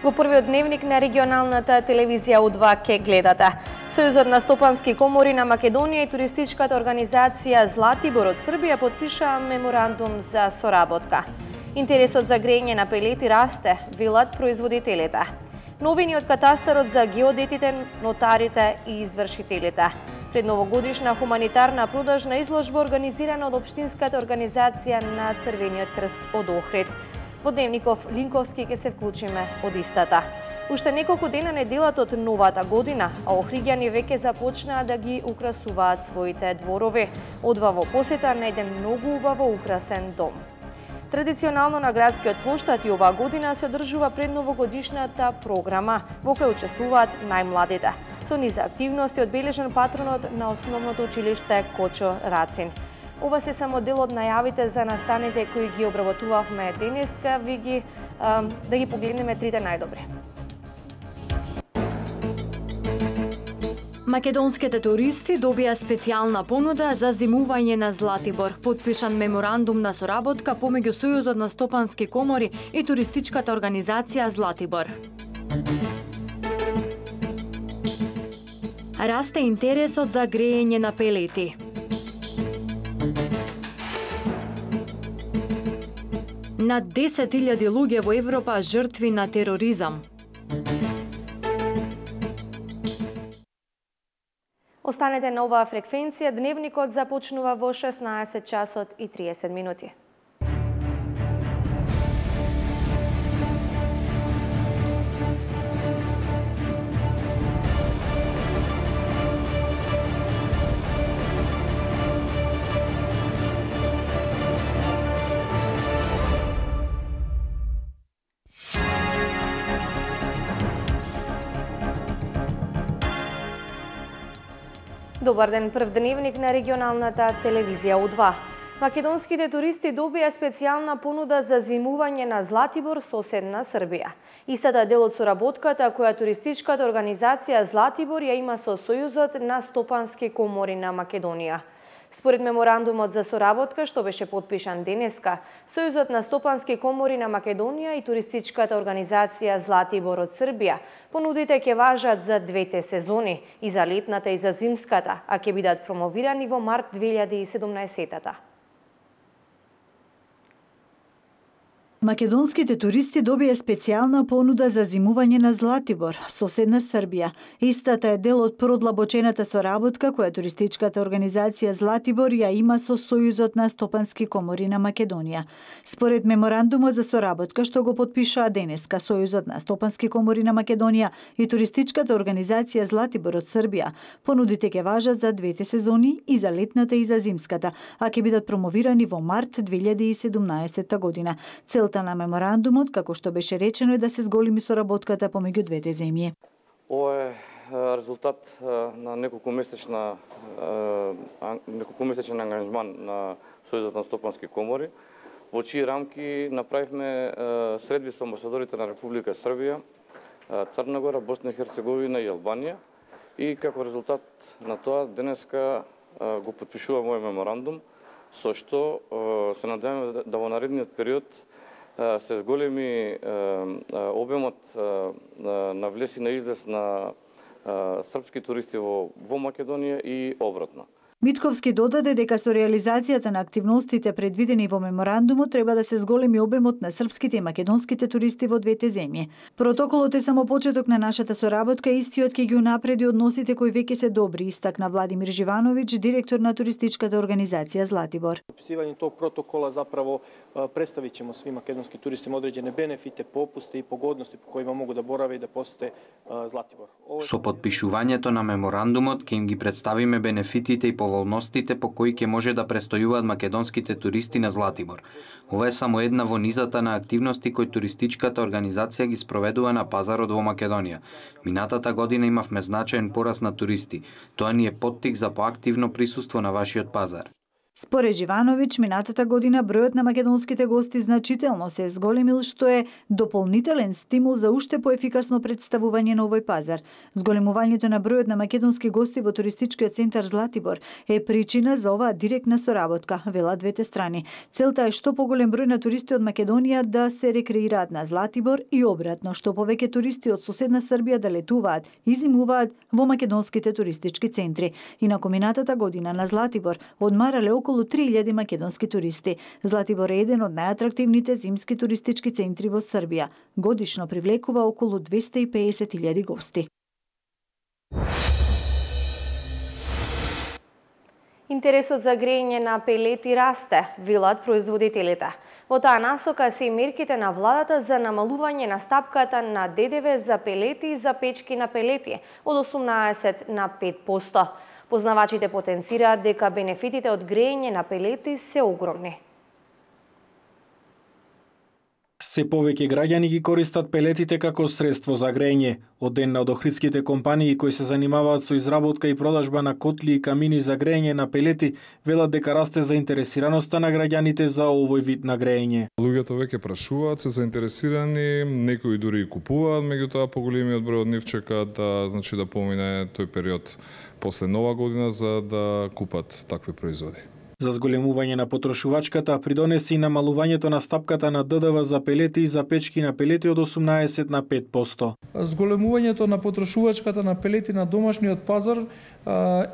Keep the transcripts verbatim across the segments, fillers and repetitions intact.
Во првиот дневник на регионалната телевизија У два ке гледате. Сојузот на стопански комори на Македонија и туристичката организација Златибор од Србија подпишаа меморандум за соработка. Интересот за грејење на пелети расте, велат производителите. Новини од катастарот за геодетите, нотарите и извршителите. Пред новогодишна хуманитарна продажна изложба организирана од Општинската организација на Црвениот крст од Охрид. Во Дневников Линковски ќе се вклучиме од истата. Уште неколку дена неделат од новата година, а охриѓани веќе започнаа да ги украсуваат своите дворови. Одва во посета на еден многу убаво украсен дом. Традиционално на градскиот плоштад и оваа година се одржува предновогодишната програма, во која учествуваат најмладите. Со низа активности одбележан патронот на основното училиште Кочо Рацин. Ова се само дел од најавите за настаните кои ги обработувавме денеска, ви ги а, да ги погледнеме трите најдобри. Македонските туристи добија специјална понуда за зимување на Златибор. Подпишан меморандум на соработка помеѓу Сојузот на стопански комори и туристичката организација Златибор. Расте интересот за грејење на пелети. Над десет илјади луѓе во Европа жртви на тероризам. Останете на оваа фреквенција, дневникот започнува во шеснаесет часот и триесет минути. Добар ден, прв дневник на регионалната телевизија У два. Македонските туристи добија специјална понуда за зимување на Златибор, соседна Србија. Истата дел од соработката која туристичката организација Златибор ја има со Сојузот на стопански комори на Македонија. Според меморандумот за соработка што беше подпишан денеска, Сојузот на стопански комори на Македонија и туристичката организација Златибор од Србија понудите ќе важат за двете сезони, и за летната и за зимската, а ќе бидат промовирани во март две илјади и седумнаесетта. Македонските туристи добија специјална понуда за зимување на Златибор, соседна Србија. Истата е дел од продлабочената соработка која туристичката организација Златибор ја има со Сојузот на стопански комори на Македонија. Според меморандумот за соработка што го подпишаа денеска Сојузот на стопански комори на Македонија и туристичката организација Златибор од Србија, понудите ќе важат за двете сезони, и за летната и за зимската, а ќе бидат промовирани во март две илјади и седумнаесетта година. Целта на меморандумот, како што беше речено, е да се зголеми соработката помеѓу двете земји. Ова е резултат на неколку месечна неколку месечен ангажман на Сојузот на стопански комори, во чии рамки направивме средби со амбасадорите на Република Србија, Црна Гора, Босна и Херцеговина и Албанија, и како резултат на тоа денеска го подпишуваме овој меморандум, со што се надеваме да во наредниот период се зголеми обемот на влез и на излез на српски туристи во, во Македонија и обратно. Митковски додаде дека со реализацијата на активностите предвидени во меморандумот треба да се зголеми обемот на српските и македонските туристи во двете земји. Протоколот е само почеток на нашата соработка, истиот ќе ги унапреди односите кои веќе се добри, истакна Владимир Живановиќ, директор на туристичката организација Златибор. Подписување тог протокола заправо представиќемо сви македонски туристи одреđene бенефите, попусти и погодности по кои могу да бораве и да посете Златибор. Со подпишувањето на меморандумот ќе им ги представиме бенефитите и поволностите по кои ќе може да престојуваат македонските туристи на Златибор. Ова е само една во низата на активности кои туристичката организација ги спроведува на пазарот во Македонија. Минатата година имавме значаен пораст на туристи. Тоа ни е поттик за поактивно присуство на вашиот пазар. Според Живановиќ, минатата година бројот на македонските гости значително се зголемил, што е дополнителен стимул за уште поефикасно представување на овој пазар. Зголемувањето на бројот на македонски гости во туристичкиот центар Златибор е причина за оваа директна соработка, велат двете страни. Целта е што поголем број на туристи од Македонија да се рекреираат на Златибор и обратно, што повеќе туристи од соседна Србија да летуваат и зимуваат во македонските туристички центри. Инаку минатата година на Златибор одмарале околу три илјади македонски туристи. Златибор е еден од најатрактивните зимски туристички центри во Србија. Годишно привлекува околу двесте и педесет илјади гости. Интересот за грејење на пелети расте, велат производителите. Во таа насока се и мерките на владата за намалување на стапката на Д Д В за пелети и за печки на пелети од осумнаесет на пет проценти. Познавачите потенцираат дека бенефитите од грејење на пелети се огромни. Се повеќе граѓани ги користат пелетите како средство за грејење. Од ден на од охридските компании кои се занимаваат со изработка и продажба на котли и камини за грејење на пелети, велат дека расте заинтересираноста на граѓаните за овој вид на грејење. Луѓето веќе прашуваат, се заинтересирани, некои дури и купуваат, меѓутоа поголемиот број од нив чекаат да, значи, да помине тој период после нова година за да купат такви производи. За зголемување на потрошувачката придонесе и намалувањето на стапката на Д Д В за пелети и за печки на пелети од осумнаесет на пет проценти. Зголемувањето на потрошувачката на пелети на домашниот пазар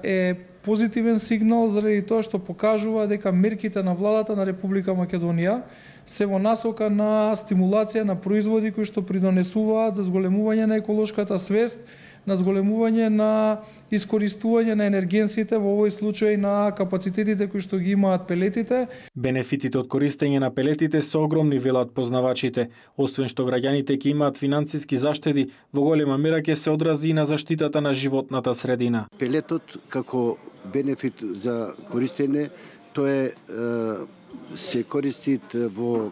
е позитивен сигнал заради тоа што покажува дека мерките на владата на Република Македонија се во насока на стимулација на производи кои што придонесуваат за зголемување на еколошката свест, на зголемување на искористување на енергенсите, во овој случај на капацитетите кои што ги имаат пелетите. Бенефитите од користење на пелетите се огромни, велат познавачите. Освен што граѓаните ќе имаат финансиски заштеди, во голема мера ќе се одрази и на заштитата на животната средина. Пелетот како бенефит за користење, тоа е се користи во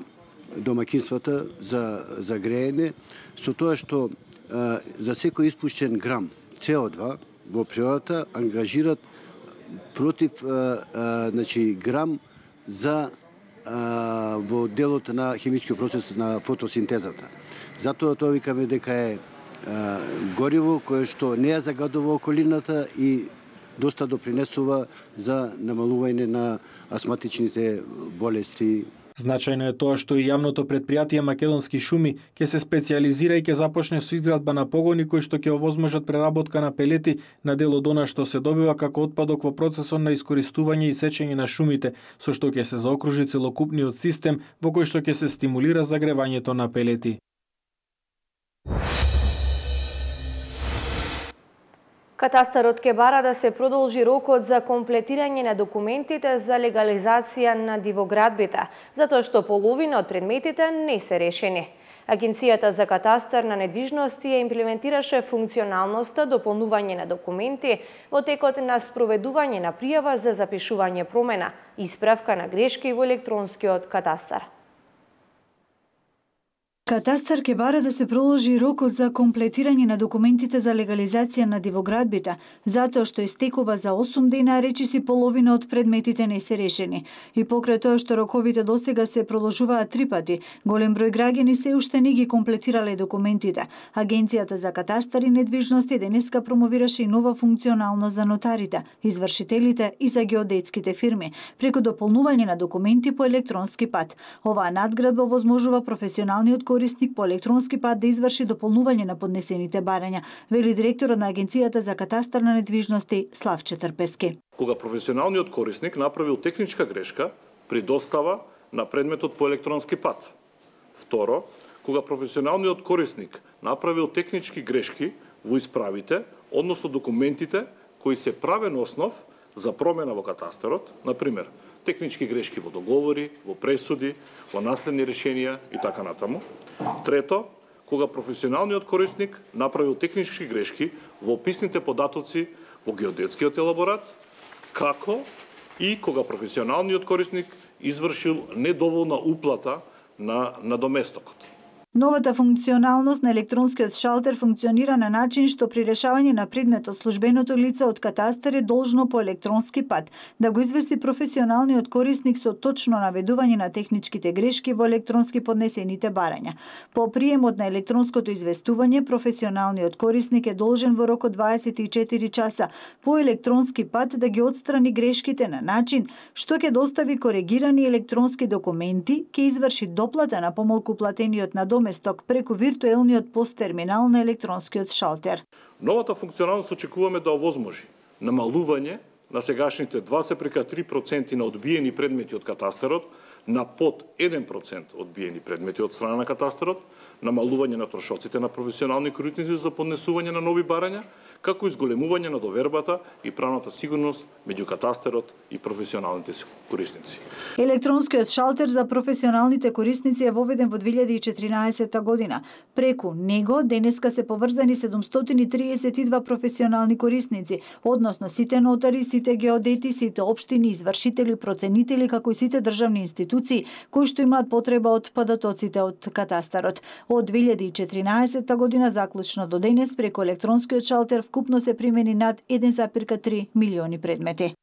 домаќинствата за за греење, со тоа што за секој испуштен грам С О два во природата ангажират против значи грам за во делот на хемискиот процес на фотосинтезата. Затоа тоа викаме дека е гориво кое што не ја загадува околината и доста допринесува за намалување на астматичните болести. Значајно е тоа што и јавното претпријатие Македонски шуми ќе се специјализира и ќе започне со изградба на погони кои што ќе овозможат преработка на пелети на дел од она што се добива како отпадок во процесот на искористување и сечење на шумите, со што ќе се заокружи целокупниот систем во кој што ќе се стимулира загревањето на пелети. Катастарот ќе бара да се продолжи рокот за комплетирање на документите за легализација на дивоградбите, затоа што половина од предметите не се решени. Агенцијата за катастар на недвижности ја имплементираше функционалноста дополнување на документи во текот на спроведување на пријава за запишување промена, исправка на грешки во електронскиот катастар. Катастар ќе бара да се проложи рокот за комплетирање на документите за легализација на дивоградбите, затоа што истекува за осум дена, речиси половина од предметите не се решени. И покрај тоа што роковите досега се проложуваат три пати, голем број граѓани се уште не ги комплетирале документите. Агенцијата за катастар и недвижности денеска промовираше и нова функционалност за нотарите, извршителите и за геодетските фирми, преку дополнување на документи по електронски пат. Оваа надградба овозможува професионалниот корисник по електронски пат да изврши дополнување на поднесените барања, вели директорот на Агенцијата за катастар на недвижности Славче Трпески. Кога професионалниот корисник направил техничка грешка при достава на предметот по електронски пат. Второ, кога професионалниот корисник направил технички грешки во исправите, односно документите кои се правен основ за промена во катастарот, например, технички грешки во договори, во пресуди, во наследни решенија и така натаму. Трето, кога професионалниот корисник направил технички грешки во описните податоци во геодетскиот елаборат, како и кога професионалниот корисник извршил недоволна уплата на надоместокот. Новата функционалност на електронскиот шалтер функционира на начин што при решавање на предметот службеното лице од катастар е должно по електронски пат да го извести професионалниот корисник со точно наведување на техничките грешки во електронски поднесените барања. По приемот на електронското известување, професионалниот корисник е должен во рок од дваесет и четири часа по електронски пат да ги отстрани грешките на начин што ќе достави коригирани електронски документи, ќе изврши доплата на помалку платениот на доместок преку виртуелниот посттерминал на електронскиот шалтер. Новата функционалност очекуваме да овозможи намалување на сегашните два запирка три проценти на одбиени предмети од катастарот на под еден процент одбиени предмети од страна на катастарот, намалување на трошоците на професионални корисници за поднесување на нови барања, како и зголемување на довербата и правната сигурност меѓу катастарот и професионалните корисници. Електронскиот шалтер за професионалните корисници е воведен во две илјади и четиринаесетта година. Преку него денеска се поврзани седумстотини и триесет и два професионални корисници, односно сите нотари, сите геодети, сите општини, извршители, проценители, како и сите државни институции кои што имаат потреба од податоците од катастарот. Од две илјади и четиринаесетта година заклучно до денес преку електронскиот шалтер вкупно се примени над еден запирка три милиони предмети.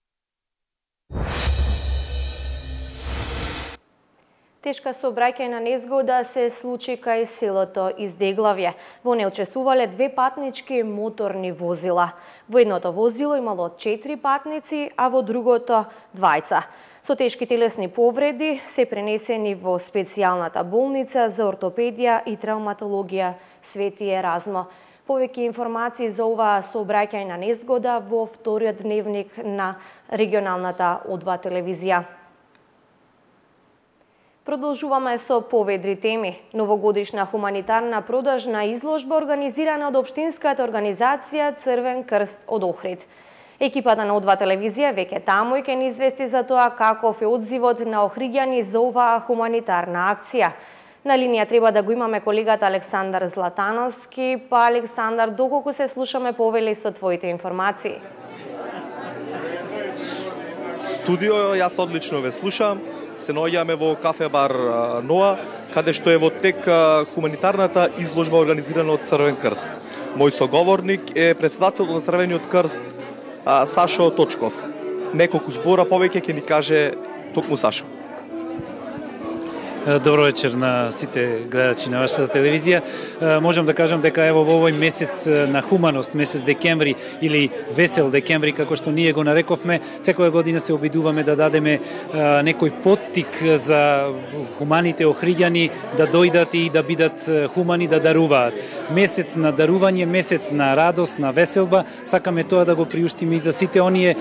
Тешка сообраќајна незгода се случи кај селото Издеглавје. Во неј учествувале две патнички моторни возила. Во едното возило имало четири патници, а во другото двајца. Со тешки телесни повреди се пренесени во специјалната болница за ортопедија и травматологија Свети Еразмо. Повеќе информации за оваа сообраќајна незгода во вториот дневник на регионалната О два телевизија. Продолжуваме со поведри теми. Новогодишна хуманитарна продажна изложба организирана од општинската организација Црвен крст од Охрид. Екипата на О два телевизија веќе таму ќе ни извести за тоа каков е одзивот на охриѓани за оваа хуманитарна акција. На линија треба да го имаме колегата Александар Златановски. Па, Александар, доколку се слушаме, повели со твоите информации. Студио, јас одлично ве слушам. Се наоѓаме во кафе бар Ноа, каде што е во тек хуманитарната изложба организирана од Црвен крст. Мој соговорник е претседател на Црвениот крст Сашо Точков. Неколку збора повеќе ќе ни каже токму Сашо. Добро вечер на сите гледачи на вашата телевизија. Можам да кажам дека ево во овој месец на хуманост, месец декември или весел декември, како што ние го нарековме, секоја година се обидуваме да дадеме некој поттик за хуманите охриѓани да дојдат и да бидат хумани, да даруваат. Месец на дарување, месец на радост, на веселба, сакаме тоа да го приуштиме и за сите оние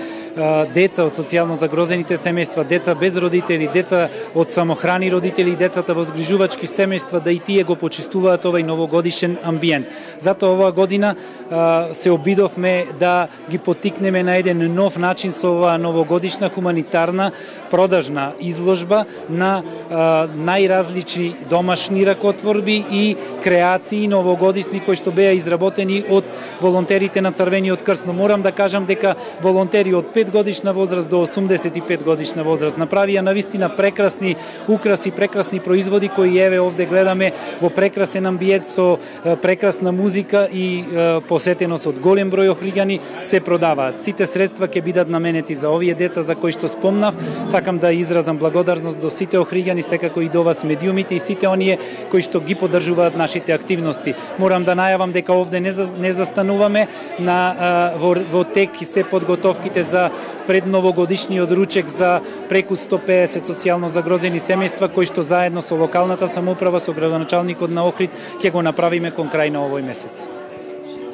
деца од социјално загрозените семејства, деца без родители, деца од самохрани родители, децата во згрижувачки семејства, да и тие го почистуваат овај новогодишен амбиент. Затоа оваа година а, се обидовме да ги поттикнеме на еден нов начин со оваа новогодишна хуманитарна продажна изложба на а, најразлични домашни ракотворби и креации новогодишни кои што беа изработени од волонтерите на Црвениот крст. Но морам да кажам дека волонтери од пет годишна возраст до осумдесет и пет годишна возраст направија навистина прекрасни украси, прекрасни производи кои еве овде гледаме во прекрасен амбиент со прекрасна музика и посетеност од голем број охриѓани се продаваат. Сите средства ќе бидат наменети за овие деца за кои што спомнав. Сакам да изразам благодарност до сите охриѓани, секако и до вас медиумите и сите оние кои што ги поддржуваат нашите активности. Морам да најавам дека овде не, за, не застануваме на во, во тек и се подготовките за предновогодишниот ручек за преку сто педесет социјално загрозени семејства кои што заедно со локалната самоуправа, со градоначалникот на Охрид ќе го направиме кон крај на овој месец.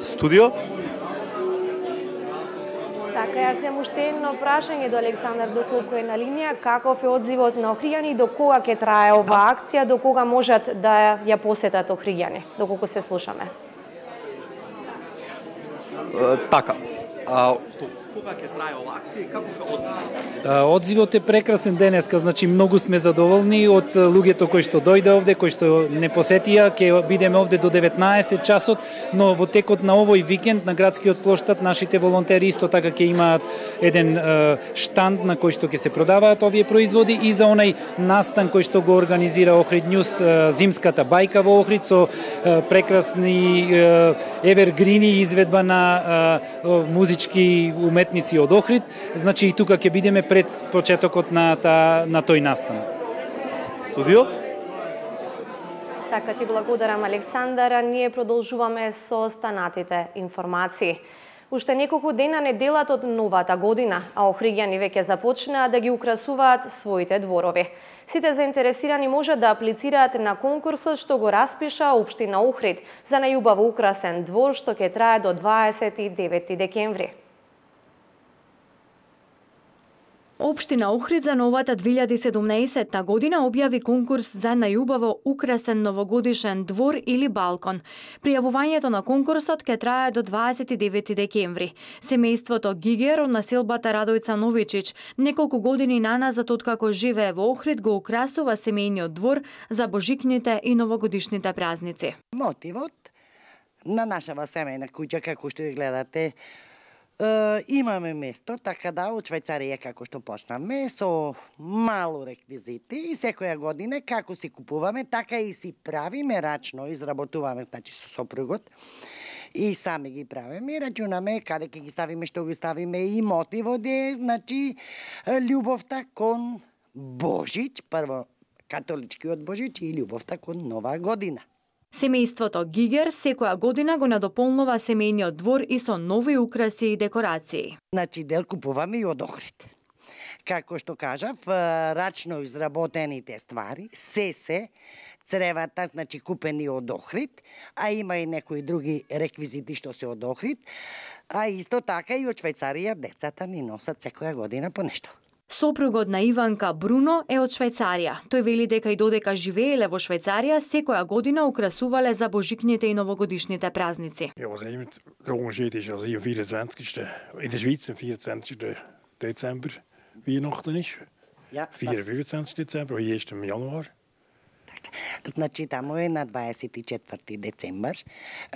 Студио? Така, јас имам уште едно прашање до Александар, доколку е на линија, каков е одзивот на охриѓани, до кога ќе трае оваа акција, до кога можат да ја посетат охриѓани, доколку се слушаме? Така. А, Кога ќе трае оваа акција и како ќе одзивот? Одзивот е прекрасен денеска, значи многу сме задоволни од луѓето кои што дојде овде, кои што не посетија, ќе бидеме овде до деветнаесет часот, но во текот на овој викенд на градскиот плоштад нашите волонтери исто така ќе имаат еден е, штанд на кој што ќе се продаваат овие производи и за онај настан кој што го организира Охрид Њуз, зимската бајка во Охрид со е, прекрасни е, евергрини изведба на е, музички уметници од Охрид, значи и тука ќе бидеме пред почетокот на та, на тој настан. Студио? Така ти благодарам, Александар. Ние продолжуваме со останатите информации. Уште неколку дена не делат од новата година, а охриѓани веќе започнаа да ги украсуваат своите дворови. Сите заинтересирани можат да аплицираат на конкурсот што го распиша Општина Охрид за најубаво украсен двор што ќе трае до дваесет и девети декември. Општина Охрид за новата две илјади и седумнаесетта година објави конкурс за најубаво украсен новогодишен двор или балкон. Пријавувањето на конкурсот ќе трае до дваесет и девети декември. Семејството Гигер од населбата Радојца Новичич неколку години наназад откако живее во Охрид го украсува семејниот двор за божикните и новогодишните празници. Мотивот на нашава семејна куќа, како што ја гледате, Uh, имаме место, така да, од Швајцарија како што почнаме, со мало реквизити и секоја година како си купуваме, така и си правиме рачно, изработуваме, значи со сопругот, и сами ги правиме и рачунаме каде ќе ги ставиме, што ги ставиме и мотивот е, значи, љубовта кон Божич, прво католичкиот Божич и љубовта кон Нова година. Семејството Гигер секоја година го надополнува семејниот двор и со нови украси и декорации. Значи дел купуваме и од Охрид. Како што кажав, рачно изработените ствари, се се цревата, значи купени од Охрид, а има и некои други реквизити што се од Охрид, а исто така и од Швајцарија децата ни носат секоја година по нешто. Сопругот на Иванка Бруно е од Швајцарија. Тој вели дека и додека живееле во Швајцарија, секоја година украсувале за божикните и новогодишните празници. Ja, was even de onderscheid is als hier vierentwintigste in de Schweiz en vierentwintigste december Weihnachten is. Ja, vierentwintigste december, hier is het januar. Значи таму е на дваесет и четврти децембар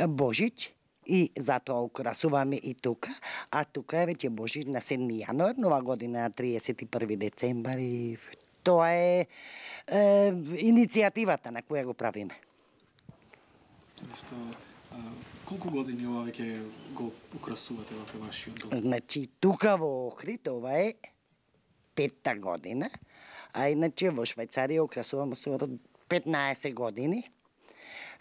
Божич. И затоа украсуваме и тука, а тука е веќе Божич на седми јануар, нова година на триесет и први децембар и тоа е, е иницијативата на која го правиме. Што, а, колку години ова веќе го украсувате во вашиот дом? Значи тука во Охрид ова е петта година, а иначе во Швајцарија украсуваме со петнаесет години.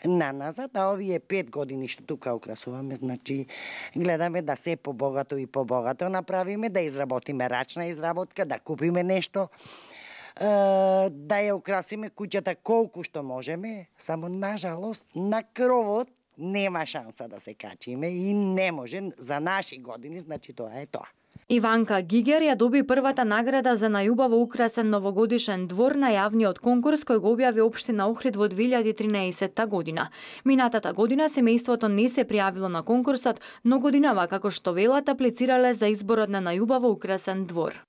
На назад, а овие пет години што тука украсуваме, значи гледаме да се побогато и побогато направиме, да изработиме рачна изработка, да купиме нешто, да ја украсиме куќата колку што можеме, само нажалост на кровот нема шанса да се качиме и не може за наши години, значи тоа е тоа. Иванка Гигер ја доби првата награда за најубаво украсен новогодишен двор на јавниот конкурс кој го објави Општина Охрид во две илјади и тринаесетта година. Минатата година семејството не се пријавило на конкурсот, но годинава како што велат аплицирале за изборот на најубаво украсен двор.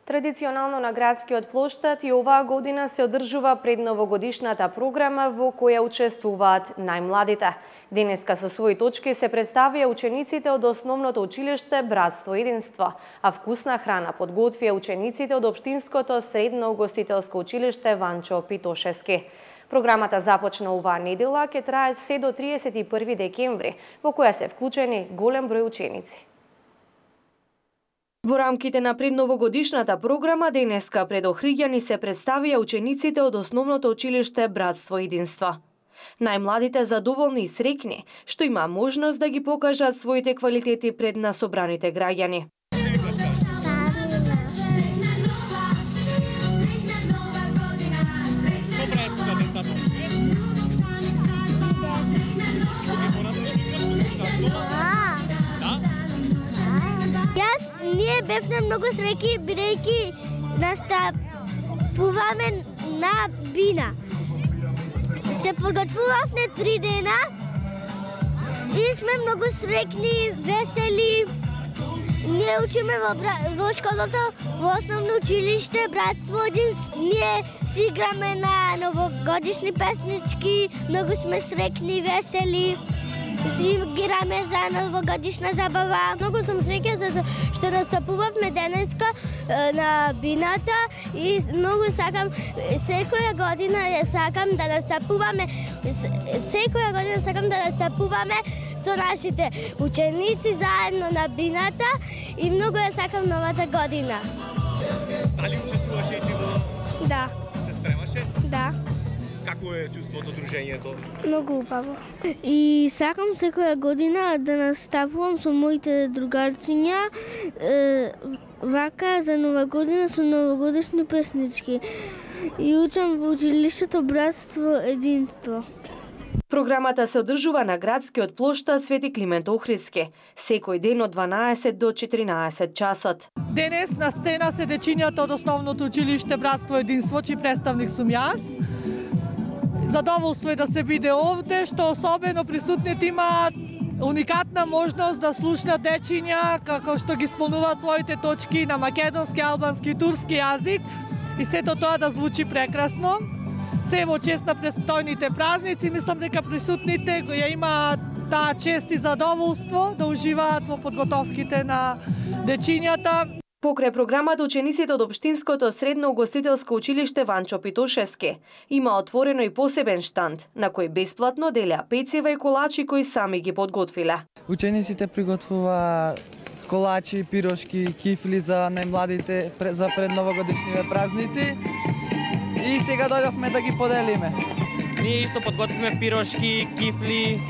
Традиционално на градскиот плоштад и оваа година се одржува предновогодишната програма во која учествуваат најмладите. Денеска со своји точки се представија учениците од основното училиште Братство и единство, а вкусна храна подготвија учениците од Општинското средно угостителско училиште Ванчо Питошевски. Програмата започна оваа недела, ќе трае се до триесет и први декември, во која се вклучени голем број ученици. Во рамките на предновогодишната програма денеска пред охриѓани се представија учениците од основното училиште Братство и единство. Најмладите задоволни и среќни што има можност да ги покажат своите квалитети пред насобраните граѓани. Ние бевме многу среќни бидејќи настапуваме на бина. Се подготвувавме три дена и сме многу среќни, весели. Ние учиме во, во школата, во основно училиште, братство единство. Ние си играме на новогодишни песнички, многу сме среќни, весели. И играме за новогодишна забава. Многу сум среќна за што настапувавме денеска на бината и многу сакам секоја година ја сакам да настапуваме секоја година сакам да настапуваме со нашите ученици заедно на бината и многу ја сакам новата година. Дали учествуваше и ти во? Да. Се спремаше? Да. Како е чувството, дружењето? Многу убаво. И сакам секоја година да настапувам со моите другарчиња е, вака за нова година со новогодишни песнички. И учам во училиштето братство единство. Програмата се одржува на градскиот плоштад Свети Климент Охридски, секој ден од дванаесет до четиринаесет часот. Денес на сцена се дечињата од основното училиште Братство единство, чиј представник сум јас. Задоволство е да се биде овде, што особено присутните имаат уникатна можност да слушнат дечиња како што ги исполнуваат своите точки на македонски, албански и турски јазик и сето тоа да звучи прекрасно. Се во чест на престојните празници, мислам дека присутните ја имаат таа чест и задоволство да уживаат во подготовките на дечињата. Покрај програмата, учениците од Општинското средно угостителско училиште Ванчо Питошевски има отворено и посебен штанд, на кој бесплатно делеа пецива и колачи кои сами ги подготвиле. Учениците приготвува колачи, пирошки, кифли за најмладите за предновогодишниве празници и сега дојдовме да ги поделиме. Ние исто подготвивме пирошки, кифли,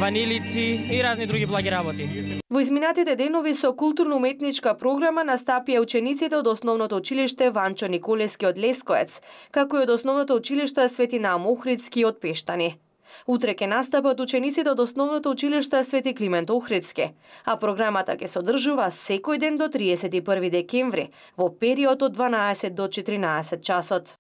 ванилици и разни други благи работи. Во изминатите денови со културно-уметничка програма настапија учениците од основното училиште Ванчо Николевски од Лескоец, како и од основното училиште Свети Наум Охридски од Пештани. Утре ќе настапат учениците од основното училиште Свети Климент Охридски, а програмата ќе се одржува секој ден до триесет и први декември, во период од дванаесет до четиринаесет часот.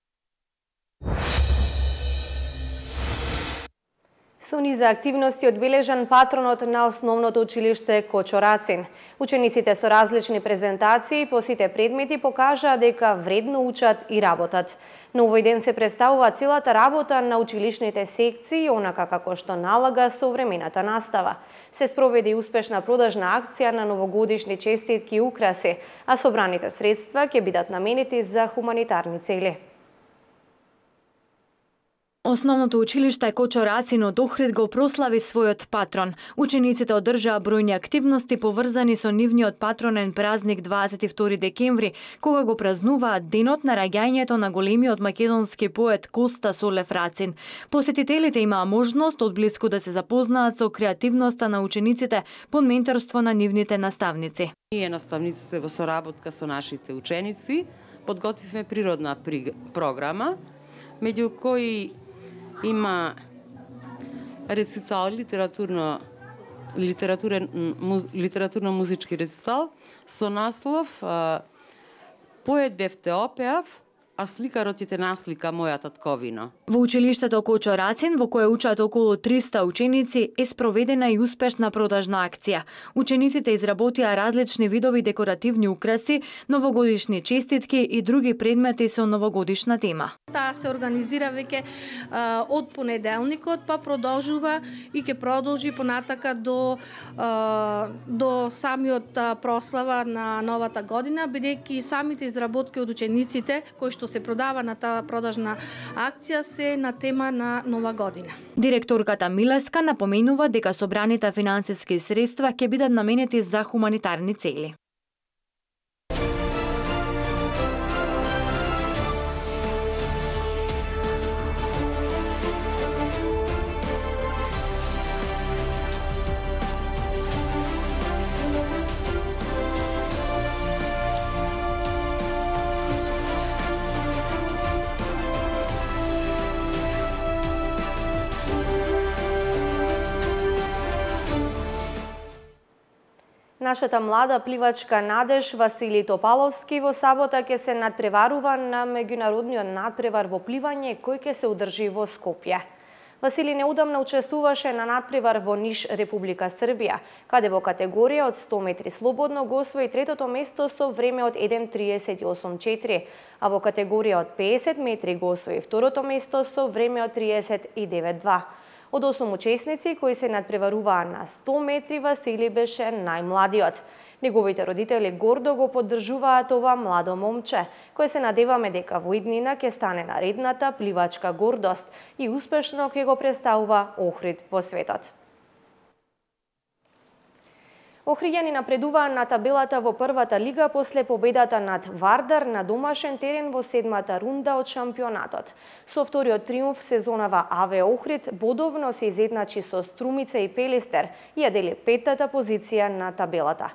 Со низа активности одбележан патронот на основното училиште Кочо Рацин. Учениците со различни презентации по сите предмети покажаа дека вредно учат и работат. Но овој ден се представува целата работа на училишните секции, онака како што налага современата настава. Се спроведе и успешна продажна акција на новогодишни честитки и украси, а собраните средства ќе бидат наменети за хуманитарни цели. Основното училиште Кочо Рацин од Охрид го прослави својот патрон. Учениците одржаа бројни активности поврзани со нивниот патронен празник дваесет и втори декември, кога го празнуваат денот на раѓањето на големиот македонски поет Коста Солев Рацин. Посетителите имаа можност одблиску да се запознаат со креативноста на учениците под менторство на нивните наставници. Ние наставниците во соработка со нашите ученици подготвивме природна програма, меѓу кои има рецитал, литературно литературен муз, литературно-музички рецитал со наслов Поет бев те опеав, а сликарот ти те наслика моја татковина. Во училиштето Кочо Рацин, во кое учат околу триста ученици, е спроведена и успешна продажна акција. Учениците изработија различни видови декоративни украси, новогодишни честитки и други предмети со новогодишна тема. Таа се организира веќе од понеделникот, па продолжува и ќе продолжи понатака до а, до самиот а, прослава на новата година, бидејќи самите изработки од учениците кои што се продава на таа продажна акција се на тема на нова година. Директорката Милеска напоменува дека собраните финансиски средства ќе бидат наменети за хуманитарни цели. Нашата млада пливачка Надеж Васили Топаловски во сабота ќе се надпреварува на меѓународниот надпревар во пливање кој ќе се одржи во Скопје. Васили неудамна учествуваше на надпревар во Ниш, Република Србија, каде во категорија од сто метри слободно го освои третото место со време од еден триесет и осум четири, а во категорија од педесет метри го освои второто место со време од триесет и девет два. Од осум учесници кои се надпреваруваа на сто метри, Васили беше најмладиот. Неговите родители гордо го поддржуваат ова младо момче, кој се надеваме дека во иднина ќе стане наредната пливачка гордост и успешно ќе го представува Охрид во светот. Охриѓани напредуваа на табелата во првата лига после победата над Вардар на домашен терен во седмата рунда од шампионатот. Со вториот триумф сезонава АВ Охрид бодовно се изедначи со Струмица и Пелистер и ја дели петтата позиција на табелата.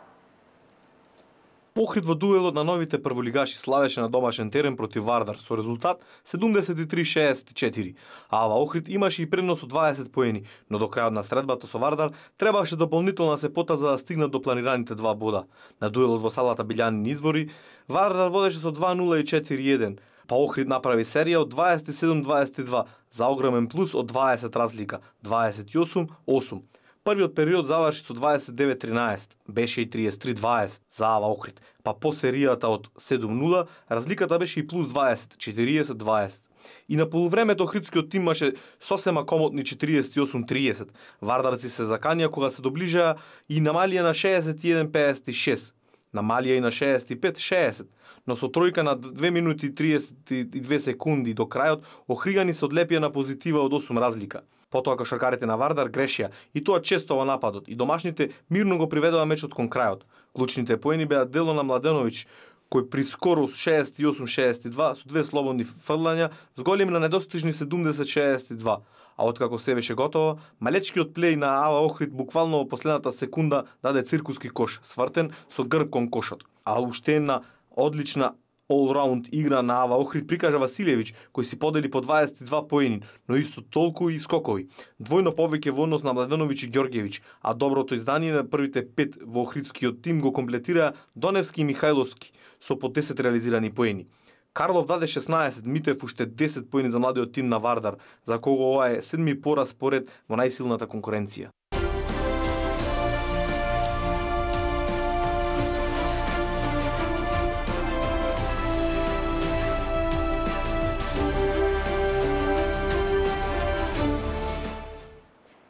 Охрид во дуелот на новите прволигаши славеше на домашен терен против Вардар со резултат седумдесет и три шеесет и четири. А ава Охрид имаше и предност од дваесет поени, но до крајот на средбата со Вардар требаше дополнителна се пота за да стигнат до планираните два бода. На дуелот во салата Билјанини извори Вардар водеше со два нула и четири еден, па Охрид направи серија од дваесет и седум дваесет и два за огромен плюс од дваесет разлика, дваесет и осум осум. Првиот период заврши со дваесет и девет тринаесет, беше и триесет и три дваесет за ава Охрид, па по серијата од седум нула разликата беше и плюс дваесет, четириесет дваесет. И на полувремето охридскиот тим имаше сосема комотни четириесет и осум триесет. Вардарци се заканија кога се доближаа и намалија на шеесет и еден педесет и шест. Намалија и на шеесет и пет шеесет. Но со тројка на две минути и триесет и две секунди до крајот, охриѓани се одлепија на позитива од осум разлика. Потоа кошаркарите на Вардар грешија и тоа често во нападот и домашните мирно го приведоа мечот кон крајот. Клучните поени беа дело на Младеновиќ, кој при скоро шеесет и осум шеесет и два со две слободни фрлања зголеми на недостижни седумдесет шеесет и два. А откако се беше готово, малечкиот плеј на ава Охрид буквално во последната секунда даде циркуски кош, свртен со грб кон кошот. А уште една одлична all-round игра на ава Охрид прикажа Василевиќ, кој си подели по дваесет и два поени, но исто толку и скокови. Двојно повеќе во однос на Младеновиќ и Ѓорѓевиќ, а доброто издание на првите пет во охридскиот тим го комплетираа Доневски и Михајловски со по десет реализирани поени. Карлов даде шеснаесет, Митев уште десет поени за младиот тим на Вардар, за кого ова е седми пораз поред во најсилната конкуренција.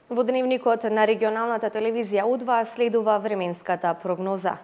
Во дневникот на регионалната телевизија У два следува временската прогноза.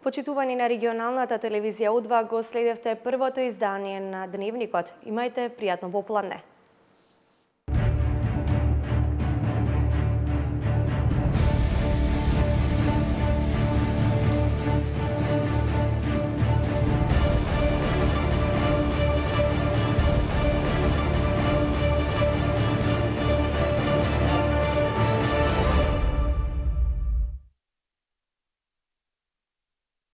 Почитувани на регионалната телевизија У два, го следевте првото издание на Дневникот. Имајте пријатно попладне.